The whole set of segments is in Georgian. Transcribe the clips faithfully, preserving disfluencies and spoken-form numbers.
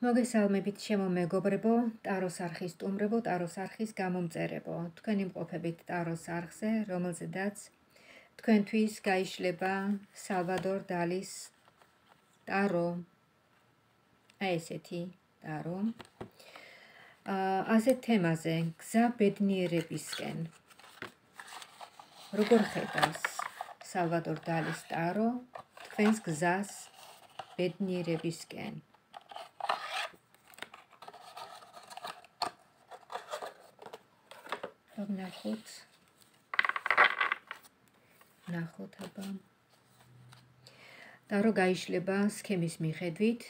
მოგესალმებით ჩემო მეგობრებო, ტაროს არხის სტუმრებო, ტაროს არხის გამომწერებო. თქვენი მყოფებით ტაროს არხზე, რომელზედაც თქვენთვის გაიშლება სალვადორ დალის ტარო. აი ესეთი ტარო. ასეთ თემაზე, გზა ბედნიერებისკენ. როგორ ხედავს სალვადორ დალის ტარო თქვენს გზას ბედნიერებისკენ? ნახოთ, ნახოთ აბა. ტარო გაიშლება სქემის მიხედვით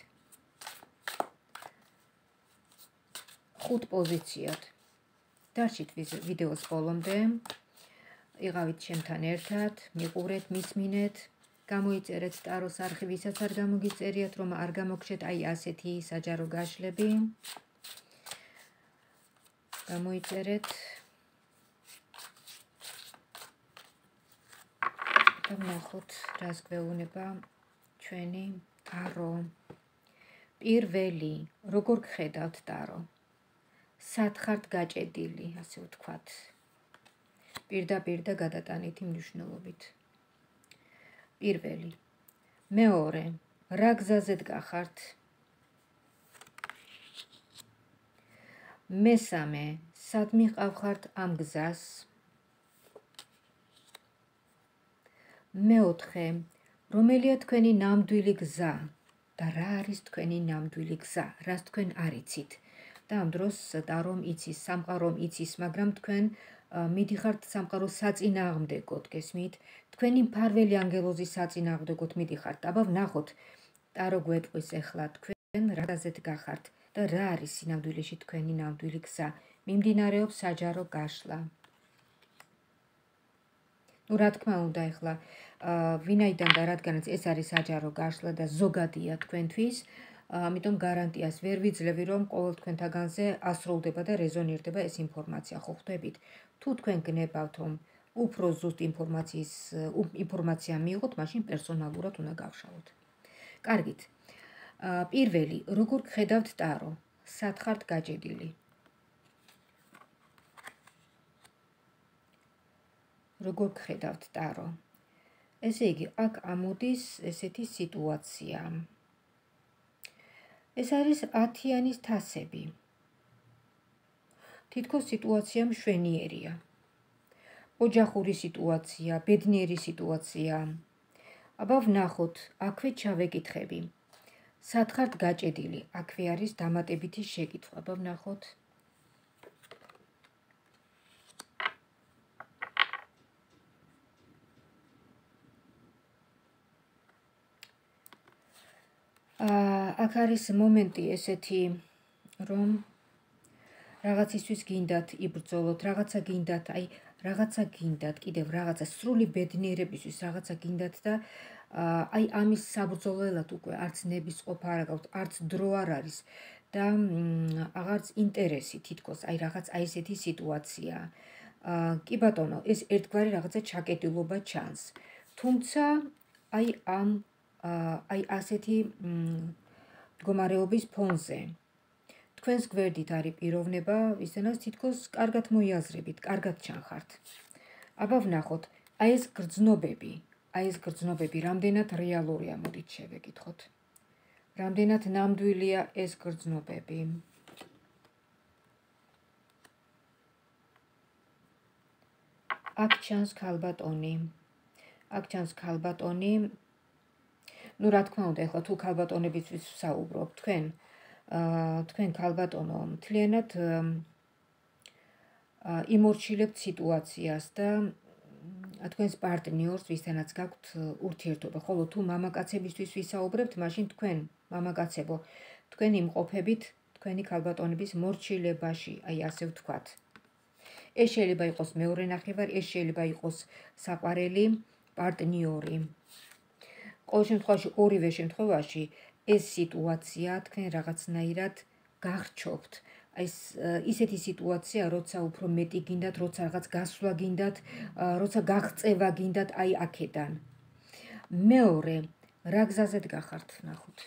ხუთ პოზიციად. დარჩით ვიდეოს ბოლომდე, იყავით ჩემთან ერთად, მიყურეთ, მისმინეთ, გამოიწერეთ ტაროს არხი, ვისაც არ გამოგიწერიათ, რომ არ გამოგჩეთ აი ასეთი საჯარო გაშლები. გამოიწერეთ. ნახოთ, რას გვეუბნება ჩვენი ტარო. პირველი, როგორ გხედავთ ტარო? სად ხართ გაჭედილი, ასე ვთქვათ. პირდაპირ და გადატანითი მნიშვნელობით. პირველი. მეორე, რა გზაზე დგახართ? მესამე, სად მიყავხართ ამ გზას? მეოთხე, რომელია თქვენი ნამდვილი გზა და რა არის თქვენი ნამდვილი გზა, რას თქვენ არ იცით? და ამ დროს ტარომ იცის, სამყარომ იცის, მაგრამ თქვენ მიდიხართ სამყაროს საწინააღმდეგოდ, გესმით? თქვენი მფარველი ანგელოზის საწინააღმდეგოდ მიდიხართ. აბა ვნახოთ, ტარო გვეტყვის ახლა თქვენ რა გზაზე დგახართ და რა არის სინამდვილეში თქვენი ნამდვილი გზა. მიმდინარეობს საჯარო გაშლა. ნუ რა თქმა უნდა, ახლა ვინაიდან და რადგანაც ეს არის საჯარო გაშლა და ზოგადია თქვენთვის, ამიტომ გარანტიას ვერ ვიძლევი, რომ ყოველ თქვენთაგანზე ასრულდება და რეზონირდება ეს ინფორმაცია, ხო ხვდებით? თუ თქვენ გნებავთ, რომ უფრო ზუსტ ინფორმაციის ინფორმაცია მიიღოთ, მაშინ პერსონალურად უნდა გავშალოთ. კარგით. პირველი, როგორ გხედავთ ტარო? სად ხართ გაჭედილი? როგორ გხედავთ ტარო? ესე იგი, აქ ამოდის ესეთი სიტუაცია. ეს არის ათიანის თასები. თითქოს სიტუაცია მშვენიერია. ოჯახური სიტუაცია, ბედნიერი სიტუაცია. აბა ვნახოთ, აქვე ჩავეკითხები. სად ხართ გაჭედილი? აქვე არის დამატებითი შეკითხვა. აბა ვნახოთ. აქ არის მომენტი ესეთი, რომ რაღაცისთვის გინდათ იბრძოლოთ, რაღაცა გინდათ, აი რაღაცა გინდათ, კიდევ რაღაცა სრული ბედნიერებისთვის რაღაცა გინდათ და აი ამის საბრძოლველად უკვე არც ნების ყოფა არ გაქვთ, არც დრო არ არის და აღარც ინტერესი თითქოს, აი რაღაც აი ესეთი სიტუაცია. კი ბატონო, ეს ერთგვარი რაღაცა ჩაკეტილობა ჩანს. თუმცა აი ამ აი ასეთი მდგომარეობის ფონზე თქვენს გვერდით არის პიროვნება, ვისთანაც თითქოს კარგად მოიაზრებით, კარგად ჩანხართ. აბა ვნახოთ, აი ეს გრძნობები, აი ეს გრძნობები რამდენად რეალურია, მოდით შევეკითხოთ. რამდენად ნამდვილია ეს გრძნობები? აქ ჩანს ქალბატონი. აქ ჩანს ქალბატონი. ნუ რა თქმა უნდა, ახლა თუ ქალბატონებისთვის ვსაუბრობ, თქვენ თქვენ ქალბატონო მთლიანად იმორჩილებთ სიტუაციას და თქვენს პარტნიორს, ვისთანაც გაქვთ ურთიერთობა, ხოლო თუ მამაკაცებისთვის ვისაუბრებთ, მაშინ თქვენ მამაკაცებო, თქვენ იმყოფებით თქვენი ქალბატონების მორჩილებაში, აი ასე ვთქვათ. ეს შეიძლება იყოს მეორე ნახევარი, ეს შეიძლება იყოს საყვარელი პარტნიორი. ყოველ შემთხვევაში, ორივე შემთხვევაში ეს სიტუაცია თქვენ რაღაცნაირად გახრჩობთ. ეს ისეთი სიტუაცია, როცა უფრო მეტი გინდათ, როცა რაღაც გასვლა გინდათ, როცა გაღწევა გინდათ აი აქედან. მეორე, რა გზაზე დგახართ, ნახოთ.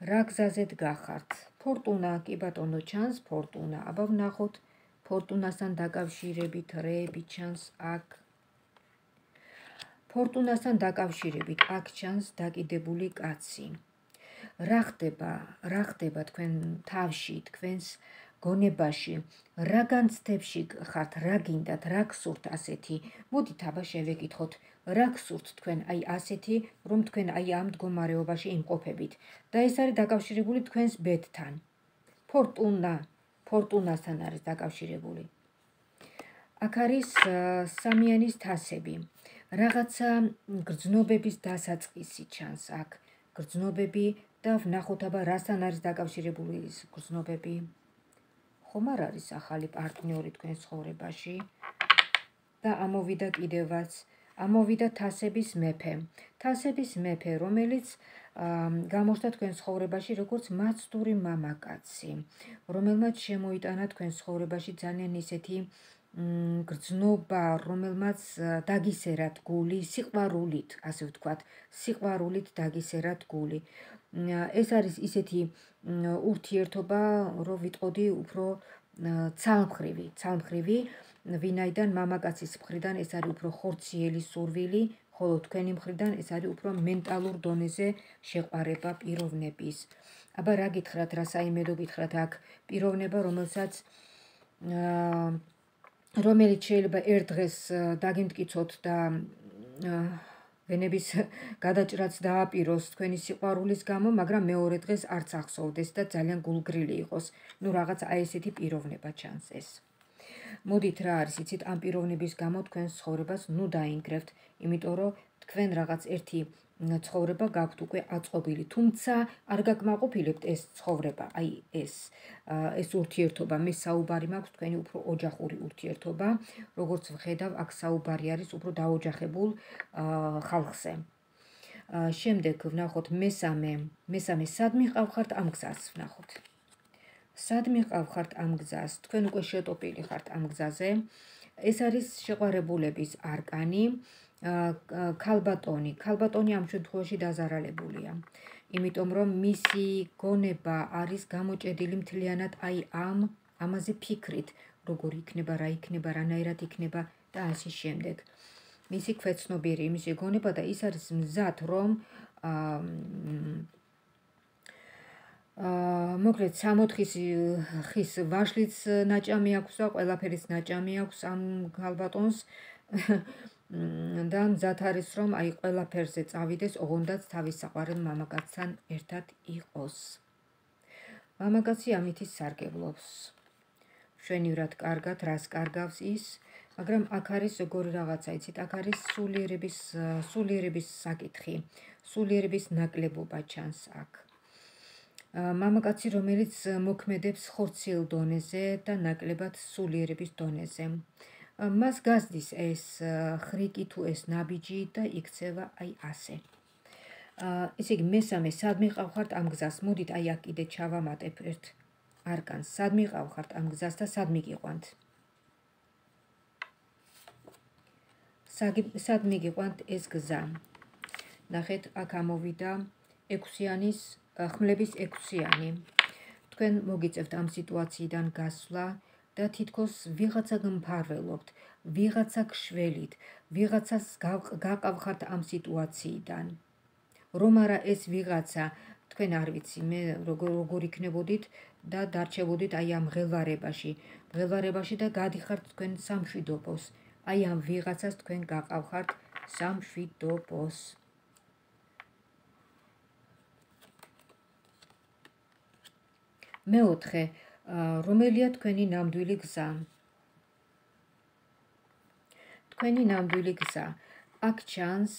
რა გზაზედ გახართ? ფორტუნა, კი ბატონო, ჩანს ფორტუნა. აბა ვნახოთ ფორტუნასთან დაკავშირებით რეები ჩანს აქ. ფორტუნასთან დაკავშირებით აქ ჩანს დაკიდებული კაცი. რა ხდება, რა ხდება თქვენ თავში, თქვენს გონებაში, რა განცდებში ხართ, რა გინდათ, რა გსურთ ასეთი? მოდით აბა შევეკითხოთ, რა გსურთ თქვენ აი ასეთი, რომ თქვენ აი ამ მდგომარეობაში იმყოფებით და ეს არის დაკავშირებული თქვენს ბედთან. ფორტუნა, ფორტუნასთან არის დაკავშირებული. აქ არის სამიანის თასები. რაღაცა გრძნობების დასაწყისი ჩანს აქ. გრძნობები და ვნახოთ აბა რასთან არის დაკავშირებული ეს გრძნობები. ხომ არ არის ახალი პარტნიორი თქვენ ცხოვრებაში და ამოვიდა კიდევაც, ამოვიდა თასების მეფე. თასების მეფე, რომელიც გამოჩნდა თქვენ ცხოვრებაში როგორც მაცდური მამაკაცი, რომელმაც შემოიტანა თქვენ ცხოვრებაში ძალიან ისეთი გრძნობა, რომელმაც დაგისერათ გული სიყვარულით, ასე ვთქვათ, სიყვარულით დაგისერათ გული. ეს არის ისეთი ურთიერთობა, რომ ვიტყოდი უფრო ცალმხრივი, ცალმხრივი, ვინაიდან მამაკაცის მხრიდან ეს არის უფრო ხორციელი სურვილი, ხოლო თქვენი მხრიდან ეს არის უფრო მენტალურ დონეზე შეყვარება პიროვნების. აბა რა გითხრათ, რა საიმედო გითხრათ აქ პიროვნება, რომელსაც რომელიც შეიძლება ერთ დღეს დაგიმტკიცოთ და ვენების გადაჭრაც დააპიროს თქვენი სიყვარულის გამო, მაგრამ მეორე დღეს არც ახსოვდეს და ძალიან გულგრილი იყოს. ნუ რაღაც აი ესეთი პიროვნება ჩანს ეს. მოდით რა არის, იცით, ამ პიროვნების გამო თქვენს ცხოვრებას ნუ დაინგრევთ, იმიტომ რომ თქვენ რაღაც ერთი ცხოვრება გაქვთ უკვე აწყობილი, თუმცა არ გაკმაყოფილებთ ეს ცხოვრება, აი ეს ეს ურთიერთობა, მე საუბარი მაქვს თქვენი უფრო ოჯახური ურთიერთობა, როგორც ვხედავ, აქ საუბარი არის უფრო დაოჯახებულ ხალხზე. შემდეგ ვნახოთ მესამე, მესამე სად მიყავხართ ამ გზას ვნახოთ. სად მიყავხართ ამ გზას, თქვენ უკვე შეტოპილი ხართ ამ გზაზე. ეს არის შეყვარებულების არკანი. ქალბატონი, ქალბატონი ამ შემთხვევაში დაზარალებულია, იმიტომ რომ მისი გონება არის გამოჭედილი მთლიანად აი ამ ამაზე ფიქრით, როგორ იქნება, რა იქნება, რანაირად იქნება და ასე შემდეგ. მისი ქვეცნობიერი, მისი გონება და ის არის მზად, რომ მოკლედ სამოთხის ხის ვაშლიც ნაჭამი აქვს და ყველაფერის ნაჭამი აქვს ამ ქალბატონს. და მზად არის, რომ აი ყველაფერზე წავიდეს, ოღონდაც თავის საყვარელ მამაკაცთან ერთად იყოს. მამაკაცი ამითი სარგებლობს. მშვენივრად კარგად, რას კარგავს ის, მაგრამ აქ არის როგორი რაღაცა, იცით, აქ არის სულიერების, სულიერების საკითხი, სულიერების ნაკლებობა ჩანს აქ. მამაკაცი, რომელიც მოქმედებს ხორციელ დონეზე და ნაკლებად სულიერების დონეზე. მას გასდის ეს ხრიკი თუ ეს ნაბიჯი და იქცევა აი ასე. ესე იგი მესამე, სად მიყავხართ ამ გზას? მოდით აი აქ კიდე ჩავამატებ ერთ არკანს. სად მიყავხართ ამ გზას და სად მიგიყვანთ? სად მიგიყვანთ ეს გზა? ნახეთ, აქ ამოვიდა ექვსიანის, ხმლების ექვსიანი. თქვენ მოგიწევთ ამ სიტუაციიდან გასვლა და თითქოს ვიღაცა გმფარველობთ, ვიღაცა გშველით, ვიღაცას გაყავხართ ამ სიტუაციიდან. რომ არა ეს ვიღაცა, თქვენ არ ვიცი, მე როგორ იქნებოდით და დარჩებოდით აი ამ მღელვარებაში, მღელვარებაში და გადიხართ თქვენ სამშვიდობოს. აი ამ ვიღაცას თქვენ გაყავხართ სამშვიდობოს. მეოთხე, რომელია თქვენი ნამდვილი გზა? თქვენი ნამდვილი გზა. აქ ჩანს,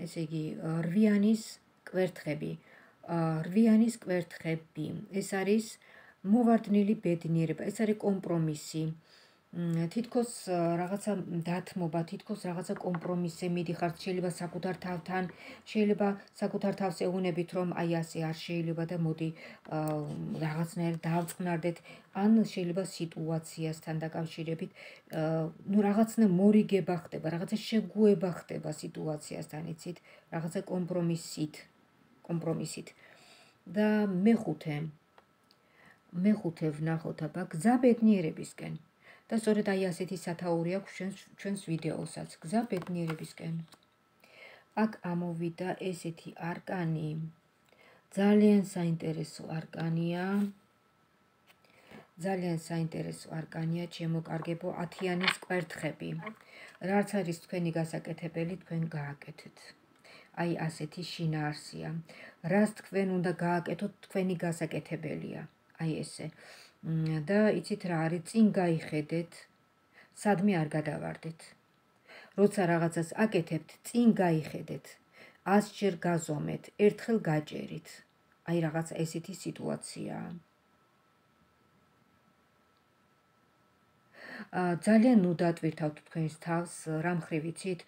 ესე იგი, რვიანის კვერთხები. რვიანის კვერთხები. ეს არის მოვარდნილი ბედნიერება, ეს არის კომპრომისი. თითქოს რაღაცა დათმობა, თითქოს რაღაცა კომპრომისზე მიდიხართ, შეიძლება საკუთარ თავთან, შეიძლება საკუთარ თავს ეუბნებით, რომ აი ასე არ შეიძლება და მოდი რაღაცნაირად დავწყნარდეთ, ან შეიძლება სიტუაციასთან დაკავშირებით, ნუ რაღაცნა მორიგება ხდება, რაღაცა შეგუება ხდება სიტუაციასთან, იცით, რაღაცა კომპრომისით, კომპრომისით. და მეხუთე მეხუთე ვნახოთ აბა გზა ბედნიერებისკენ. და სწორედ აი ასეთი სათაური აქვს ჩვენს ჩვენს ვიდეოსაც, გზა ბედნიერებისკენ. აქ ამოვიდა ესეთი არკანი. ძალიან საინტერესო არკანია. ძალიან საინტერესო არკანია, ჩემო კარგებო, ათიანის კვერთხები. რაც არის თქვენი გასაკეთებელი, თქვენ გააკეთეთ. აი ასეთი შინაარსია. რაც თქვენ უნდა გააკეთოთ, თქვენი გასაკეთებელია. აი ესე. და იცით რა არის, წინ გაიხედეთ, სადმე არ გადავარდეთ. როცა რაღაცას აკეთებთ, წინ გაიხედეთ, ასჯერ გაზომეთ, ერთხელ გაჭერით. აი რაღაც ესეთი სიტუაციაა. ძალიან ნუ დატვირთავთ თქვენს თავს, რა მხრივ იცით,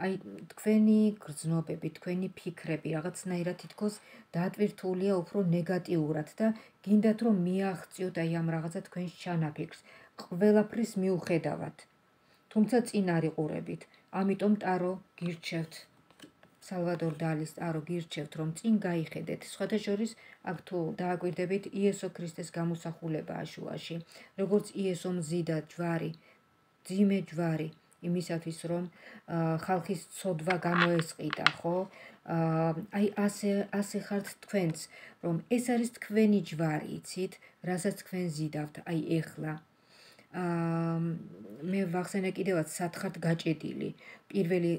აი თქვენი გრძნობები, თქვენი ფიქრები რაღაცნაირად თითქოს დატვირთულია უფრო ნეგატიურად და გინდათ რომ მიაღწიოთ აი ამ რაღაცა თქვენს ჩანაფიქრს, ყველაფრის მიუხედავად. თუმცა წინ არ იყურებით, ამიტომ ტარო გირჩევთ. სალვადორ დალის ტარო გირჩევთ, რომ წინ გაიხედეთ. სხვათა შორის აქ თუ დააკვირდებით იესო ქრისტეს გამოსახულებაა შუაში, როგორც იესო მზიდა ჯვარი, ძიმე ჯვარი, იმისათვის რომ ხალხის ცოდვა გამოესყიდა, ხო? აი ასე ასე ხართ თქვენც, რომ ეს არის თქვენი ჯვარი, იცით, რასაც თქვენ ზიდავთ, აი ეხლა. მე ვახსენე კიდევაც სად ხართ გაჭედილი. პირველი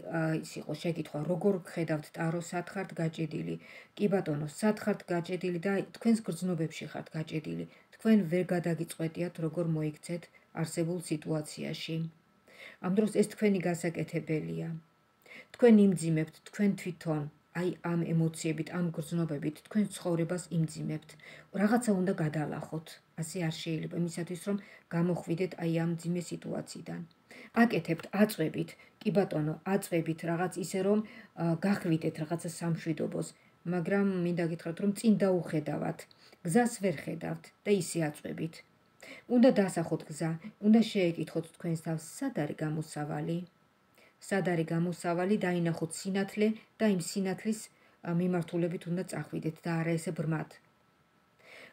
ის იყო შეკითხვა, როგორ გხედავთ ტარო, სად ხართ გაჭედილი? კი ბატონო, სად ხართ გაჭედილი და თქვენს გრძნობებში ხართ გაჭედილი. თქვენ ვერ გადაგიწყვეტიათ, როგორ მოიქცეთ არსებულ სიტუაციაში. ამ დროს ეს თქვენი გასაკეთებელია. თქვენ იმძიმებთ, თქვენ თვითონ აი ამ ემოციებით, ამ გრძნობებით, თქვენ ცხოვრებას იმძიმებთ. რაღაცა უნდა გადალახოთ. ასე არ შეიძლება, იმისათვის რომ გამოხვიდეთ აი ამ ძიმე სიტუაციიდან. აკეთებთ, აწვევით, კი ბატონო, აწვევით რაღაც ისე რომ გახვიდეთ რაღაცა სამშვიდობოს, მაგრამ მინდა გითხრათ რომ წინ დაუხედავთ, გზას ვერ ხედავთ და ისე აწვევით. უნდა დასახოთ გზა, უნდა შეეკითხოთ თქვენს თავს, სად არის გამოსავალი? სად არის გამოსავალი, დაინახოთ სინათლე და იმ სინათლის მიმართულებით უნდა წახვიდეთ და არა ესე ბრმად.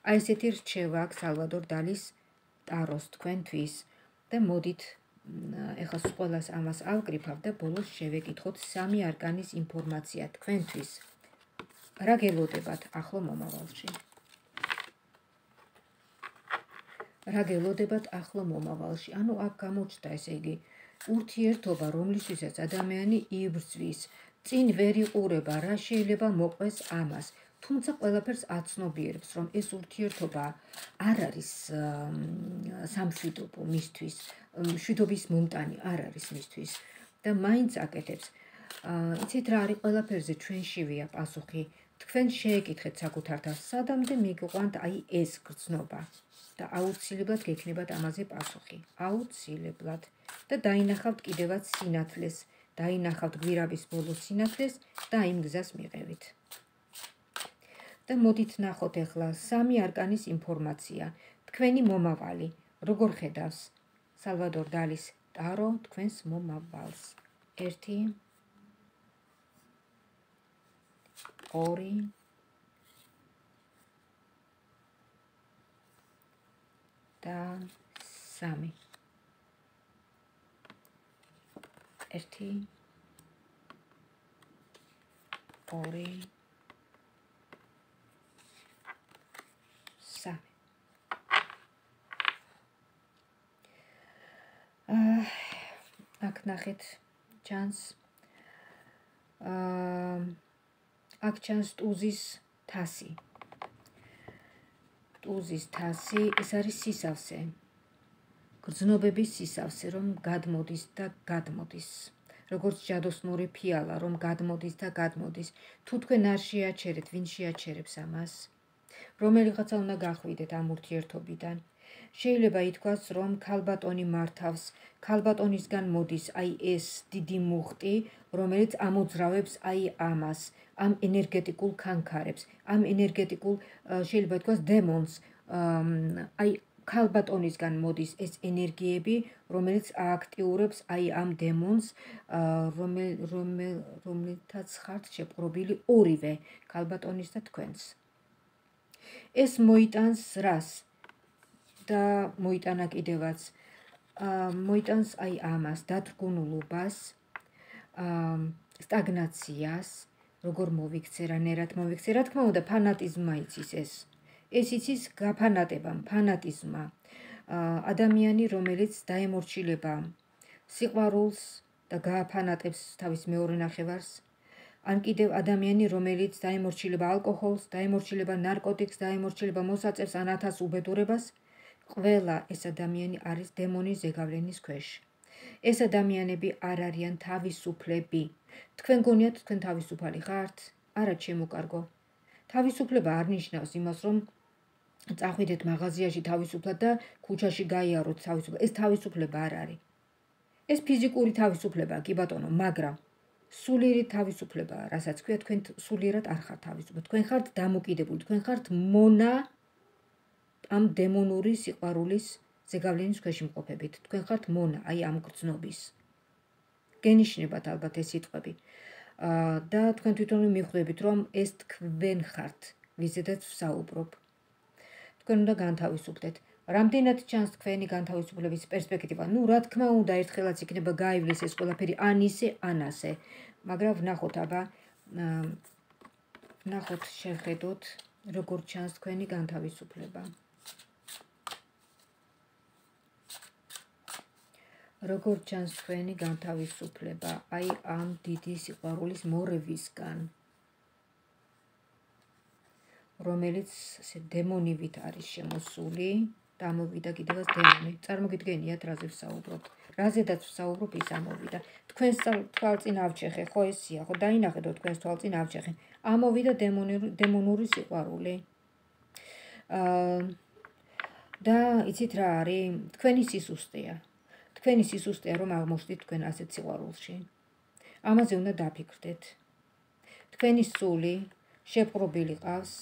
აი ესეთი რჩევა აქვს სალვადორ დალის ტაროს თქვენთვის და მოდით ეხლა ყველას ამას ავკრიფავ და ბოლოს შევეკითხოთ სამი არკანის ინფორმაცია თქვენთვის. რა გელოდებათ ახლო მომავალში? რა გელოდებათ ახლო მომავალში? ანუ აქ გამოჩნდა ესე იგი ურთიერთობა, რომლისთვისაც ადამიანი იბრძვის, წინ ვერ იყურება, რა შეიძლება მოყვეს ამას. თუმცა ყველაფერს აცნობიერებს, რომ ეს ურთიერთობა არ არის სამშვიდობო მისთვის, მშვიდობის მომტანი არ არის მისთვის და მაინც აკეთებს. იცით რა არის, ყველაფერზე ჩვენშივეა პასუხი. თქვენ შეეკითხეთ საკუთარ თავს, სადამდე მიგიყვანთ აი ეს გრძნობა და აუცილებლად გექნებათ ამაზე პასუხი. აუცილებლად. და დაინახავთ კიდევაც სინათლეს, დაინახავთ გვირაბის ბოლოს სინათლეს და იმ გზას მიყევით. და მოდით ნახოთ ახლა სამი არკანის ინფორმაცია. თქვენი მომავალი, როგორ ხედავს სალვადორ დალის ტარო თქვენს მომავალს? ერთი, ორი, და სამი. ერთი, ორი, სამი. აქ ნახეთ ჩანს აქ ჩანს ტუზის თასი. ტუზის თასი, ეს არის სისავსე. გრძნობების სისავსე, რომ გადმოდის და გადმოდის. როგორც ჯადოსნური ფიალა, რომ გადმოდის და გადმოდის. თუ თქვენ არ შეაჩერეთ, ვინ შეაჩერებს ამას? რომელიღაცა უნდა გახვიდეთ ამ ურთიერთობიდან. შეიძლება ითქვას, რომ ქალბატონი მართავს, ქალბატონისგან მოდის აი ეს დიდი მუხტი, რომელიც ამოძრავებს აი ამას, ამ ენერგეტიკულ ქანქარებს, ამ ენერგეტიკულ შეიძლება ითქვას დემონს, აი ქალბატონისგან მოდის ეს ენერგიები, რომელიც ააქტიურებს აი ამ დემონს, რომელთაც ხართ შეპყრობილი ორივე, ქალბატონის და თქვენს. ეს მოიტანს რას და მოიტანა კიდევაც მოიტანს აი ამას დათრგუნულობას, სტაგნაციას, როგორ მოვიქცე, რანაირად მოვიქცე, რა თქმა უნდა, ფანატიზმმა იცის ეს. ეს იცის გაფანატებამ, ფანატიზმმა. ადამიანი, რომელიც დაემორჩილება სიყვარულს და გააფანატებს თავის მეორე ნახევარს, ან კიდევ ადამიანი, რომელიც დაემორჩილება ალკოჰოლს, დაემორჩილება ნარკოტიკს, დაემორჩილება მოსაწევს ან ათას უბედურებას, ყველა ეს ადამიანი არის დემონის ზეგავლენის ქვეშ. ეს ადამიანები არ არიან თავისუფლები. თქვენ გონიათ, თქვენ თავისუფალი ხართ? არა, ჩემო კარგო. თავისუფლება არ ნიშნავს იმას, რომ წახვიდეთ მაღაზიაში თავისუფლად და ქუჩაში გაიაროთ თავისუფლად. ეს თავისუფლება არ არის. ეს ფიზიკური თავისუფლებაა, კი ბატონო, მაგრამ სულიერი თავისუფლებაა, რასაც ქვია, თქვენ სულიერად არ ხართ თავისუფლად. თქვენ ხართ დამოკიდებული, თქვენ ხართ მონა ამ დემონური სიყვარულის ზეგავლენის ქვეშ იმყოფებით. თქვენ ხართ მონა, აი ამ გრძნობის. გენიშნებათ ალბათ ეს სიტყვები. და თქვენ თვითონ მიხვდებით, რომ ეს თქვენ ხართ, ვიზედაც ვსაუბრობ. თქვენ უნდა განთავისუფლდეთ. რამდენად ჩანს თქვენი განთავისუფლების პერსპექტივა? ნუ რა თქმა უნდა, ერთხელაც იქნება გაივლის ეს ყველაფერი ან ისე, ან ასე. მაგრამ ვნახოთ აბა, ვნახოთ, შევხედოთ, როგორ ჩანს თქვენი განთავისუფლება. როგორ ჩანს თქვენი განთავისუფლება, აი ამ დიდი სიყვარულის მორევისგან, რომელიც დემონივით არის შემოსული და ამოვიდა კიდევაც დემონი. წარმოგიდგენიათ, რაზე ვსაუბრობ. რაზედაც ვსაუბრობ, ის ამოვიდა. თქვენს თვალწინ ავჩეხე, ხო ესია, ხო დაინახეთო თქვენს თვალწინ ავჩეხე. ამოვიდა დემონური სიყვარული. და იცით რა არის? თქვენი სისუსტეა. თქვენი სისუსტეა, რომ აღმოჩნდით თქვენ ასეთ სიყვარულში. ამაზე უნდა დაფიქრდეთ. თქვენი სული შეპყრობილი ყავს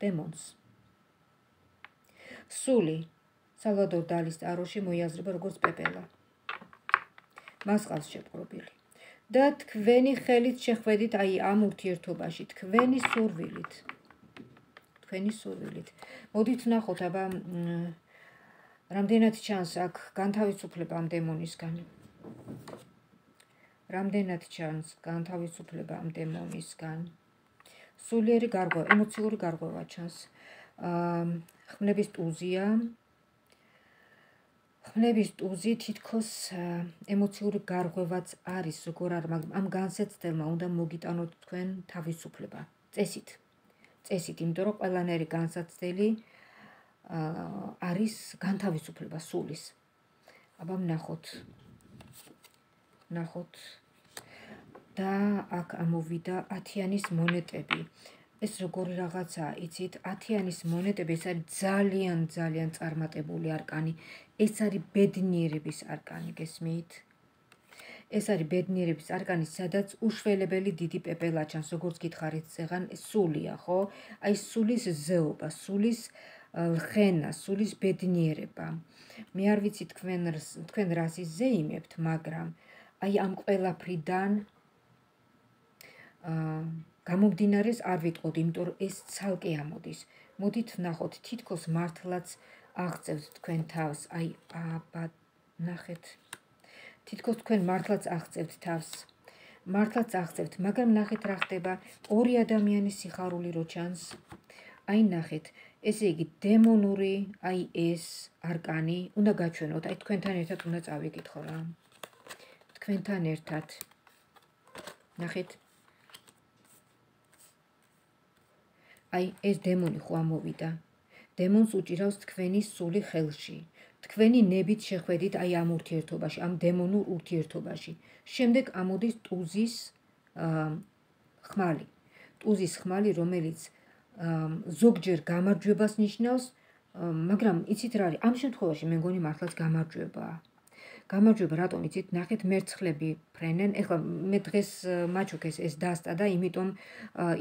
დემონს. სული სალვადორ დალის ტაროში მოიაზრება როგორც პეპელა. მას ყავს შეპყრობილი. და თქვენი ხელით შეხვედით აი ამ ურთიერთობაში, თქვენი სურვილით. თქვენი სურვილით. მოდით ვნახოთ, აბა რამდენად ჩანს აქ განთავისუფლება ამ დემონისგან. რამდენად ჩანს განთავისუფლება ამ დემონისგან. სულიერი გარღვევა, ემოციური გარღვევა ჩანს. ხმლების ტუზია. ხმლების ტუზი თითქოს ემოციური გარღვევაც არის, როგორ არ, მაგრამ ამ განსაცდელმა უნდა მოგიტანოთ თქვენ თავისუფლება. წესით. წესით, იმიტომ რომ ყველანაირი განსაცდელი არის განთავისუფლება სულის. აბა ვნახოთ. ვნახოთ. და აქ ამოვიდა ათიანის მონეტები. ეს როგორი რაღაცაა, იცით, ათიანის მონეტები, ეს არის ძალიან, ძალიან წარმატებული არკანი. ეს არის ბედნიერების არკანი, გესმით? ეს არის ბედნიერების არკანი, სადაც უშველებელი დიდი პეპელა ჩანს, როგორც გითხარით ზეღან, სულია, ხო? აი სულის ზეობა, სულის ლხენა, სულის ბედნიერება. მე არ ვიცი თქვენ თქვენ რას იზეიმებთ, მაგრამ აი ამ ყველაფრიდან გამომდინარეს არ ვიტყოდ, იმიტომ რომ ეს ცალკე ამოდის. მოდით ვნახოთ, თითქოს მართლაც აღწევთ თქვენ თავს, აი აბა ნახეთ. თითქოს თქვენ მართლაც აღწევთ თავს. მართლაც აღწევთ, მაგრამ ნახეთ რა ხდება, ორი ადამიანის სიხარული რო ჩანს. აი ნახეთ, ესე იგი დემონური, აი ეს არკანი უნდა გაჩვენოთ, აი თქვენთან ერთად უნდა წავიკითხო რა. თქვენთან ერთად. ნახეთ. აი ეს დემონი ხო ამოვიდა. დემონს უჭირავს თქვენი სული ხელში. თქვენი ნებით შეხვედით აი ამ ურთიერთობაში, ამ დემონურ ურთიერთობაში. შემდეგ ამოდის ტუზის ხმალი. ტუზის ხმალი, რომელიც ზოგჯერ გამარჯვებას ნიშნავს, მაგრამ იცით რა არის, ამ შემთხვევაში მე მგონი მართლაც გამარჯვებაა. გამარჯვება რატომ იცით, ნახეთ მერცხლები ფრენენ. ეხლა მე დღეს მაჩუქეს ეს დასტა და იმიტომ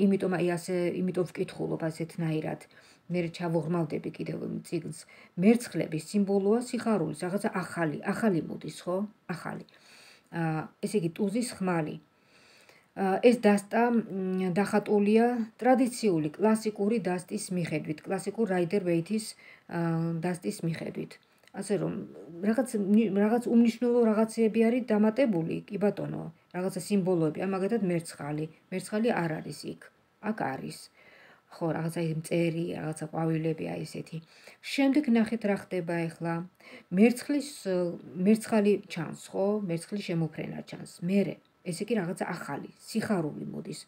იმიტომ აი ასე იმიტომ ვკითხულობ ასეთნაირად. მე ჩავოღრმავდები კიდევ წიგნს. მერცხლების სიმბოლოა სიხარულის, რაღაცა ახალი, ახალი მოდის, ხო? ახალი. ესე იგი ტუზის ხმალი. ეს დასტა დახატულია ტრადიციული კლასიკური დასტის მიხედვით, კლასიკურ რაიდერ ვეითის დასტის მიხედვით. ასე რომ რაღაც რაღაც უმნიშვნელო რაღაცები არის დამატებული, კი ბატონო, რაღაცა სიმბოლოები, აი მაგათად მერცხალი, მერცხალი არ არის იქ. აქ არის. ხო, რაღაცა მწერი, რაღაცა ყვავილები აი ესეთი. შემდეგ ნახეთ რა ხდება ახლა. მერცხლის მერცხალი ჩანს, ხო? მერცხლის შემოფრენა ჩანს. მერე ესე იგი რაღაცა ახალი, სიხარული მოდის.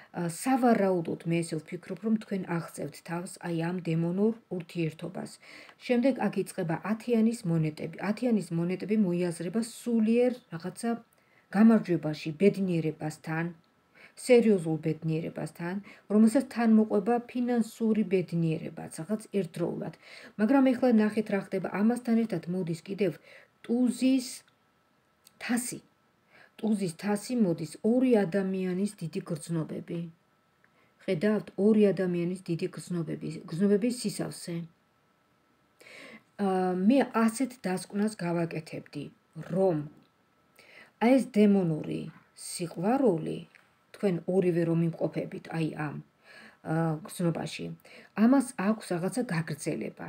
სავარაუდოდ მე ესე ვფიქრობ, რომ თქვენ აღწევთ თავს აი ამ დემონურ ურთიერთობას. შემდეგ აქ იწყება ათიანის მონეტები. ათიანის მონეტები მოიაზრება სულიერ რაღაცა გამარჯვებაში, ბედნიერებასთან, სერიოზულ ბედნიერებასთან, რომელსაც თან მოყვება ფინანსური ბედნიერებაც, რაღაც ერთდროულად. მაგრამ ეხლა ნახეთ რა ხდება, ამასთან ერთად მოდის კიდევ ტუზის თასი. ტუზის თასი მოდის ორი ადამიანის დიდი გრძნობები. ხედავთ, ორი ადამიანის დიდი გრძნობები, გრძნობების სისავსე. მე ასეთ დასკვნას გავაკეთებდი, რომ აი ეს დემონური სიყვარული, თქვენ ორივე რომ იმყოფებით აი ამ გრძნობაში, ამას აქვს რაღაცა გაგრძელება.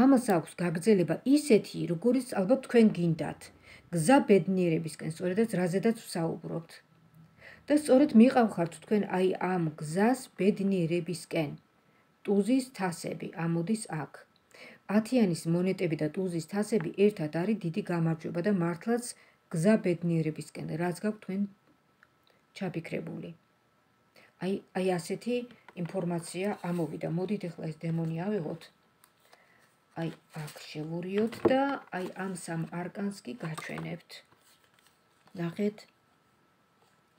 ამას აქვს გაგრძელება ისეთი, როგორიც ალბათ თქვენ გინდათ. გზა ბედნიერებისკენ, სწორედაც რაზედაც ვსაუბრობთ. და სწორედ მიყავხართ თქვენ აი ამ გზას ბედნიერებისკენ. ტუზის თასები ამოდის აქ. ათიანის მონეტები და ტუზის თასები ერთად არის დიდი გამარჯვება და მართლაც გზა ბედნიერებისკენ, რაც გაქვთ თქვენ ჩაფიქრებული. აი აი ასეთი ინფორმაცია ამოვიდა. მოდით ახლა ეს დემონი ავიღოთ. აი აქ შევურიოთ და აი ამ სამ არკანს კი გაჩვენებთ. ნახეთ.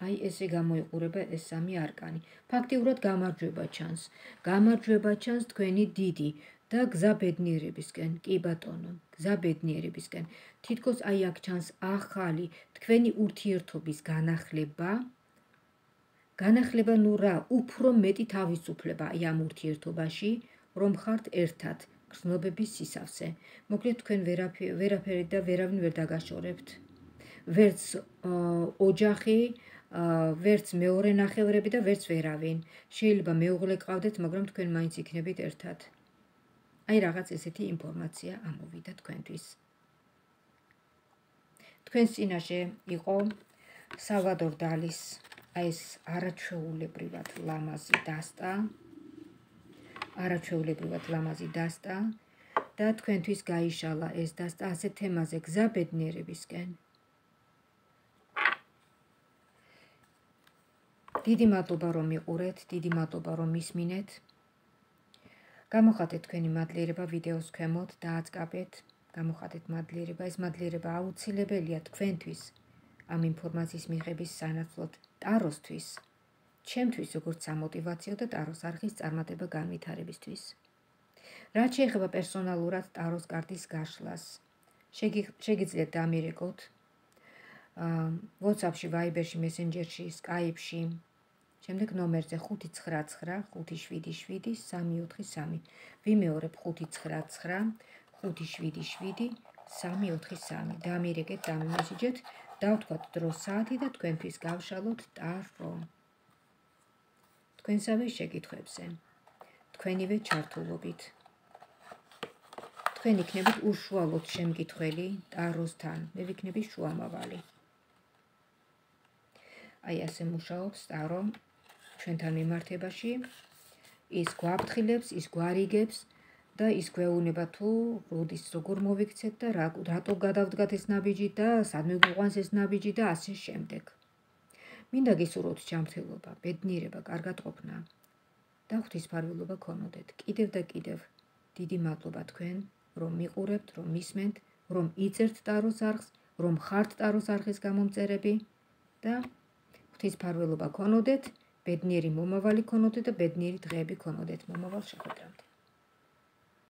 აი ესე გამოიყურება ეს სამი არკანი. ფაქტიურად გამარჯვება ჩანს. გამარჯვება ჩანს თქვენი დიდი და გზა ბედნიერებისკენ. კი ბატონო, გზა ბედნიერებისკენ. თითქოს აი აქ ჩანს ახალი თქვენი ურთიერთობის განახლება. განახლება ნუ რა, უფრო მეტი თავისუფლება აი ამ ურთიერთობაში, რომ ხართ ერთად. გრძნობების სისავსე. მოკლედ თქვენ ვერაფერი და ვერავინ ვერ დაგაშორებთ. ვერც ოჯახი, ვერც მეორე ნახევრები და ვერც ვერავინ. შეიძლება მეუღლე გყავდეთ, მაგრამ თქვენ მაინც იქნებით ერთად. აი რაღაც ესეთი ინფორმაცია ამოვიდა თქვენთვის. თქვენს წინაშე იყო სალვადორ დალის აი ეს არაჩვეულებრივად ლამაზი დასტა. არაჩვეულებრივად ლამაზი დასტა და თქვენთვის გაიშალა ეს დასტა ასეთ თემაზე გზა ბედნიერებისკენ. დიდი მადლობა რომ მიყურეთ, დიდი მადლობა რომ მისმინეთ. გამოხატეთ თქვენი მადლიერება ვიდეოს ქვემოთ და აწკაბეთ. გამოხატეთ მადლიერება, ეს მადლიერება აუცილებელია თქვენთვის ამ ინფორმაციის მიღების სანაცვლოდ ტაროსთვის. ჩემთვის როგორც სამოტივაციო და ტაროს არხის წარმატება განვითარებისთვის. რაც შეეხება პერსონალურად ტაროს კარტის გაშლას, შეგიძლიათ დამირეკოთ WhatsApp-ში, Viber-ში, Messenger-ში, Skype-ში, შემდეგ ნომერზე ხუთი ცხრა ცხრა ხუთი შვიდი შვიდი სამი ოთხი სამი. ვიმეორებ ხუთი ცხრა ცხრა ხუთი შვიდი შვიდი სამი ოთხი სამი. დამირეკეთ, დამიმესიჯეთ, დავთქვათ დრო საათი და თქვენთვის გავშალოთ ტარო. თქვენსავე შეკითხვებზე, თქვენივე ჩართულობით. თქვენ იქნებით უშუალოდ შემკითხველი ტაროსთან, მე ვიქნები შუამავალი. აი ასე მუშაობს ტარო ჩვენთან მიმართებაში, ის გვაფრთხილებს, ის გვარიგებს და ის გვეუბნება თუ როდის როგორ მოვიქცეთ და რატო გადავდგათ ეს ნაბიჯი და სადმე გვიყვანს ეს ნაბიჯი და ასე შემდეგ. მინდა გისურვოთ ჯანმრთელობა, ბედნიერება, კარგატყოფნა და ღვთისმფარველობა გქონოდეთ. კიდევ და კიდევ დიდი მადლობა თქვენ, რომ მიყურებთ, რომ მისმენთ, რომ იწერთ ტაროს არხს, რომ ხართ ტაროს არხის გამომწერები და ღვთისმფარველობა გქონოდეთ, ბედნიერი მომავალი გქონოდეთ და ბედნიერი დღეები გქონოდეთ მომავალ შეხვედრამდე.